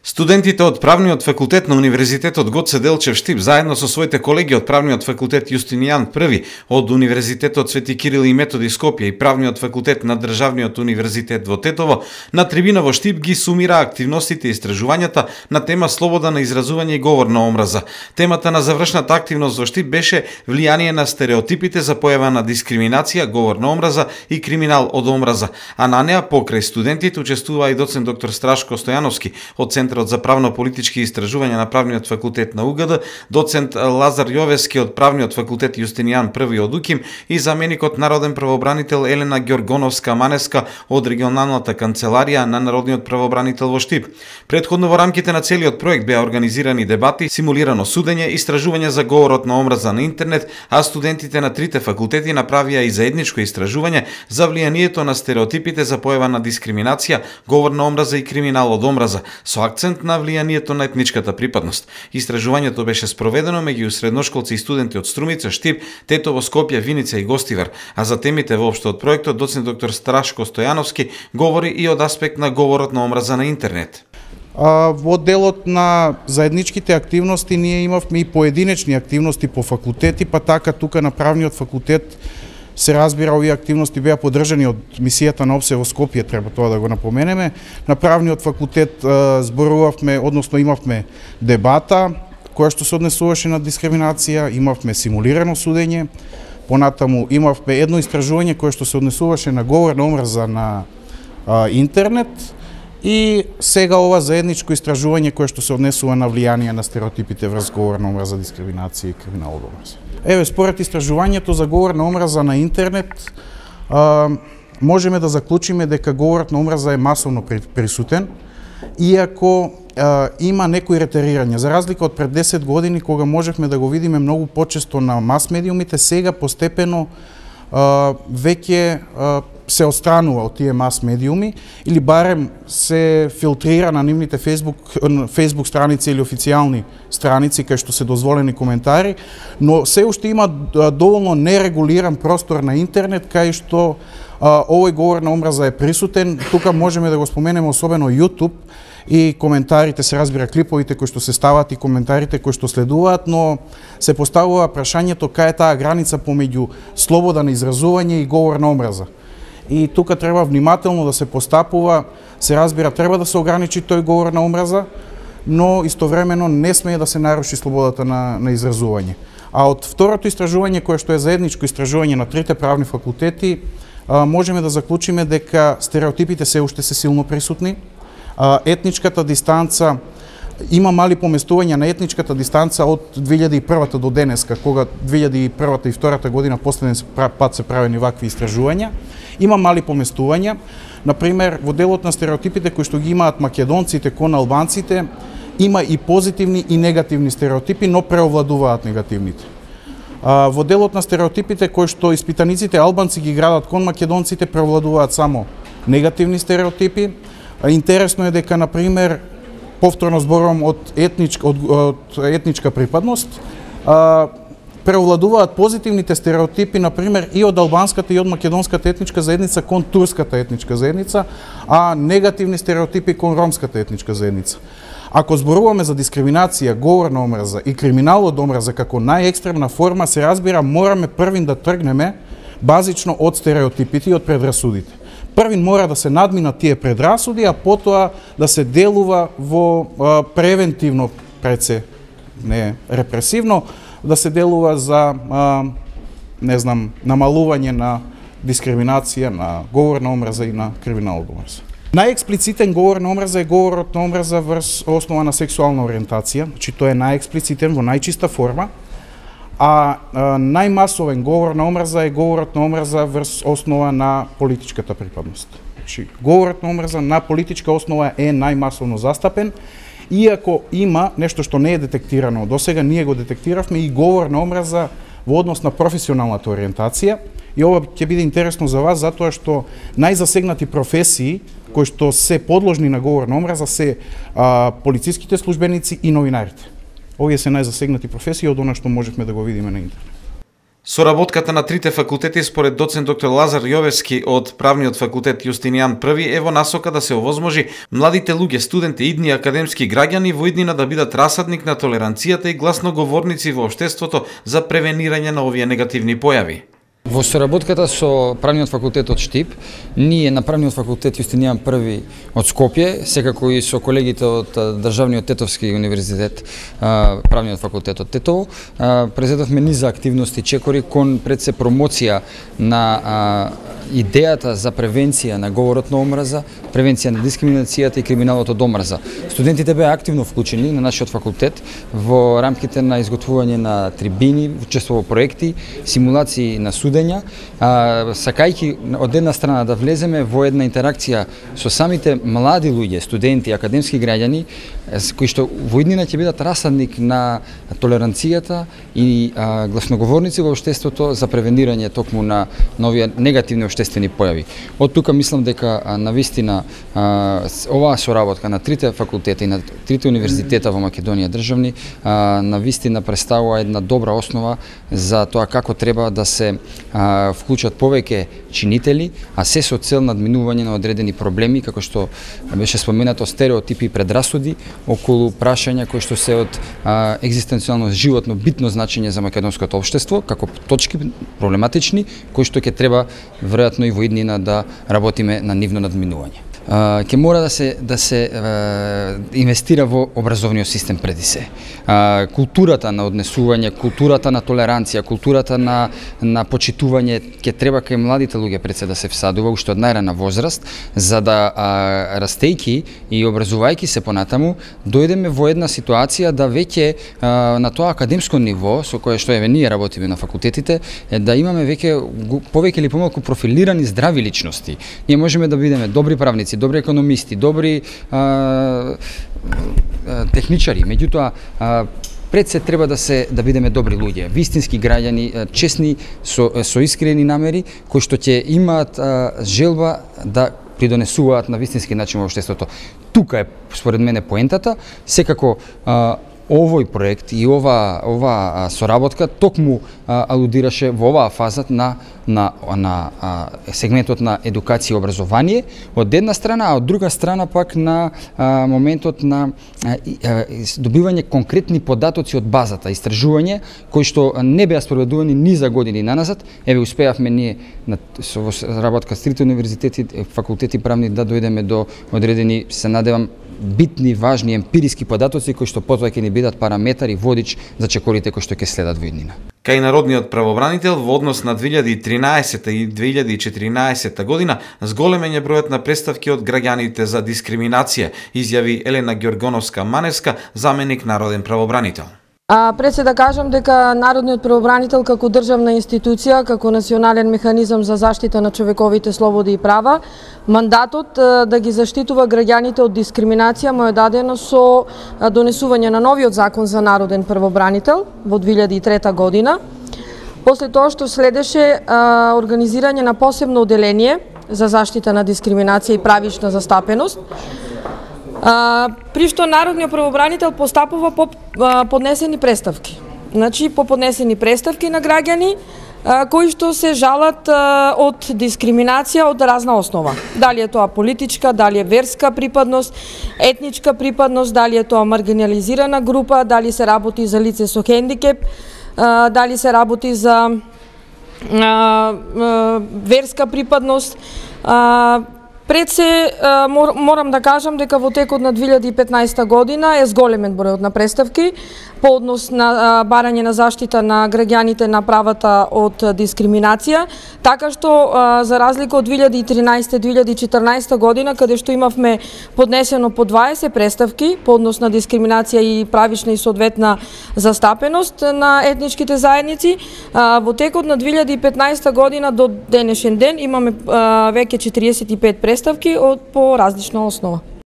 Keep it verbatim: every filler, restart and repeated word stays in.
Студентите од Правниот факултет на Универзитетот Гоце Делчев Штип заедно со своите колеги од Правниот факултет Јустинијан Први од Универзитетот Свети Кирил и Методи Скопје и Правниот факултет на Државниот универзитет во Тетово на трибина во Штип ги сумира активностите и истражувањата на тема слобода на изразување и говор на омраза. Темата на завршната активност во Штип беше влијание на стереотипите за појава на дискриминација, говор на омраза и криминал од омраза, а на неа покрај студентите учествува и доцент доктор Страшко Стојановски од Центарот за правно-политички истражувања на Правниот факултет на УГД, доцент Лазар Јовески од Правниот факултет Јустинијан Први од УКИМ и заменикот народен правобранител Елена Ѓоргоновска-Манеска од регионалната канцеларија на народниот правобранител во Штип. Претходно во рамките на целиот проект беа организирани дебати, симулирано судење, истражување за говорот на омраза на интернет, а студентите на трите факултети направија и заедничко истражување за влијанието на стереотипите за појава на дискриминација, говор на омраза и криминал од омраза, со акцент на влијанието на етничката припадност. Истражувањето беше спроведено меѓу средношколци и студенти од Струмица, Штип, Тетово, Скопје, Виница и Гостивар, а за темите воопшто од проектот доцент доктор Страшко Стојановски говори и од аспект на говорот на омраза на интернет. А, во делот на заедничките активности ние имавме и поединечни активности по факултети, па така тука на Правниот факултет се разбира, овие активности беа поддржани од мисијата на ОПСЕ во Скопје, треба тоа да го напоменеме. На Правниот факултет е, зборувавме, односно имавме дебата која што се однесуваше на дискриминација, имавме симулирано судење, понатаму имавме едно истражување кое што се однесуваше на говор на омраза на а, интернет и сега ова заедничко истражување кое што се однесува на влијание на стереотипите врз говор на омраза, дискриминација и криминал од омраза. Еве, според истражувањето за говор на омраза на интернет, а, можеме да заклучиме дека говорот на омраза е масовно присутен, иако а, има некои ретерирање. За разлика од пред десет години, кога можевме да го видиме многу почесто на мас медиумите, сега постепено а, веќе а, се отстранува од тие мас медиуми или барем се филтрира на нивните Facebook, Facebook страници или официјални страници кај што се дозволени коментари, но се уште има доволно нерегулиран простор на интернет кај што а, овој говор на омраза е присутен. Тука можеме да го споменеме особено YouTube и коментарите, се разбира клиповите кои што се стават и коментарите кои што следуваат, но се поставува прашањето кај е таа граница помеѓу слобода на изразување и говор на омраза. И тука треба внимателно да се постапува, се разбира, треба да се ограничи тој говор на омраза, но истовремено не смее да се наруши слободата на, на изразување. А од второто истражување, кое што е заедничко истражување на трите правни факултети, а, можеме да заклучиме дека стереотипите се уште се силно присутни, а, етничката дистанца, има мали поместувања на етничката дистанца од две илјади и прва до денеска, кога две илјади и прва и втората година последен пат се правени вакви истражувања. Има мали поместувања. Например, во делот на стереотипите кои што ги имаат македонците кон албанците, има и позитивни и негативни стереотипи, но преовладуваат негативните. А, во делот на стереотипите кои што испитаниците албанци ги градат кон македонците, преовладуваат само негативни стереотипи. А, интересно е дека, например, повторно зборувам од етничка, од, од етничка припадност, а, преовладуваат позитивните стереотипи, например, и од албанската и од македонската етничка заедница кон турската етничка заедница, а негативни стереотипи кон ромската етничка заедница. Ако зборуваме за дискриминација, говор на омраза и криминал од омраза како најекстремна форма, се разбира, мораме првин да тргнеме базично од стереотипите и од предрасудите. Првин мора да се надминат тие предрасуди, а потоа да се делува во а, превентивно преце, не репресивно, да се делува за, а, не знам, намалување на дискриминација, на говор на омраза и на криминал од омраза. Најексплицитен говор на омраза е говорот на омраза врз основа на сексуална ориентација, значи тој е најексплицитен во најчиста форма, а, а најмасовен говор на омраза е говорот на омраза врз основа на политичката припадност. Значи, говорот на омраза на политичка основа е најмасовно застапен, иако има нешто што не е детектирано досега, ние го детектиравме и говор на омраза во однос на професионалната ориентација, и ова ќе биде интересно за вас затоа што најзасегнати професии кои што се подложни на говор на омраза се а, полициските службеници и новинарите. Овие се најзасегнати професии од она што можевме да го видиме на интернет. Соработката на трите факултети според доцент доктор Лазар Јовевски од Правниот факултет Јустинијан Први е во насока да се овозможи младите луѓе, студенти, идни академски граѓани во иднина да бидат расадник на толеранцијата и гласноговорници во општеството за превенирање на овие негативни појави. Во соработката со Правниот факултет од Штип, ние на Правниот факултет Јустинијан Први од Скопје, секако и со колегите од Државниот Тетовски универзитет, Правниот факултет од Тетово, презедовме низа активности чекори кон пред се промоција на идејата за превенција на говорот на омраза, превенција на дискриминацијата и криминалот од омраза. Студентите беа активно вклучени на нашиот факултет во рамките на изготвување на трибини, учество во проекти, симулации на судења, а, сакајќи од една страна да влеземе во една интеракција со самите млади луѓе, студенти, академски граѓани, кои што во иднина ќе бидат расадник на толеранцијата и а, гласноговорници во општеството за превенирање токму на нови негативни општествени појави. Од тука мислам дека а, навистина а, оваа соработка на трите факултета и на трите универзитета во Македонија државни а, навистина представува една добра основа за тоа како треба да се а, вклучат повеќе чинители, а се со цел надминување на одредени проблеми, како што беше споменато, стереотипи и предрасуди околу прашања кои што се од а, екзистенцијално животно битно значење за македонското општество, како точки проблематични, кои што ќе треба веројатно и во иднина да работиме на нивно надминување. Ќе мора да се да се а, инвестира во образовниот систем преди се. А, културата на однесување, културата на толеранција, културата на на почитување ќе треба кај младите луѓе пред се да се всадува уште од најрана возраст, за да а, растејќи и образувајќи се понатаму, дојдеме во една ситуација да веќе а, на тоа академско ниво со кое што еве ние работиме на факултетите, е да имаме веќе повеќе или помалку профилирани здрави личности. Ние можеме да бидеме добри правници, добри економисти, добри а, а, техничари, меѓутоа а, пред се треба да се да бидеме добри луѓе, вистински граѓани, честни со со искрени намери, кои што ќе имаат а, желба да придонесуваат на вистински начин во општеството. Тука е според мене поентата, секако а, овој проект и ова ова соработка токму а, алудираше во оваа фаза на на на а, сегментот на едукација и образование од една страна, а од друга страна пак на а, моментот на а, а, добивање конкретни податоци од базата, истражување кои што не беа спроведувани ни за години наназад. Еве успеавме ние на со работка со трите универзитети, факултети правни да дојдеме до одредени, се надевам, битни, важни емпириски податоци кои што потоа ќе ни бидат параметар и водич за чекорите кои што ќе следат во иднина. Кај народниот правобранител во однос на две илјади и тринаесетта и две илјади и четиринаесетта година зголемен е бројот на представки од граѓаните за дискриминација, изјави Елена Ѓоргоновска-Маневска, заменик народен правобранител. А пред се да кажам дека Народниот правобранител како државна институција, како национален механизам за заштита на човековите слободи и права, мандатот да ги заштитува граѓаните од дискриминација му е дадено со донесување на новиот закон за народен правобранител во две илјади и трета година. После тоа што следеше а, организирање на посебно оделение за заштита на дискриминација и правична застапеност, А, при што народниот правобранител постапува по а, поднесени представки. Значи, по поднесени представки на граѓани а, кои што се жалат а, од дискриминација од разна основа. Дали е тоа политичка, дали е верска припадност, етничка припадност, дали е тоа маргинализирана група, дали се работи за лице со хендикеп, а, дали се работи за а, а, верска припадност. А, Пред се морам да кажам дека во текот на две илјади и петнаесетта година е зголемен бројот на представки по однос на барање на заштита на граѓаните на правата од дискриминација, така што за разлика од две илјади и тринаесетта - две илјади и четрнаесетта година, каде што имавме поднесено по дваесет представки по однос на дискриминација и правична и соодветна застапеност на етничките заедници, во текот на две илјади и петнаесетта година до денешен ден имаме веќе четириесет и пет представки од по различна основа.